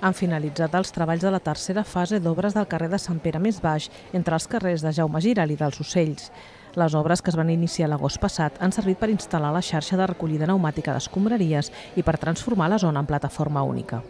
Han finalitzat els treballs de la tercera fase d'obres del carrer de Sant Pere més baix, entre els carrers de Jaume Giral i dels Ocells. Les obres, que es van iniciar l'agost passat, han servit per instal·lar la xarxa de recollida pneumàtica d'escombraries i per transformar la zona en plataforma única.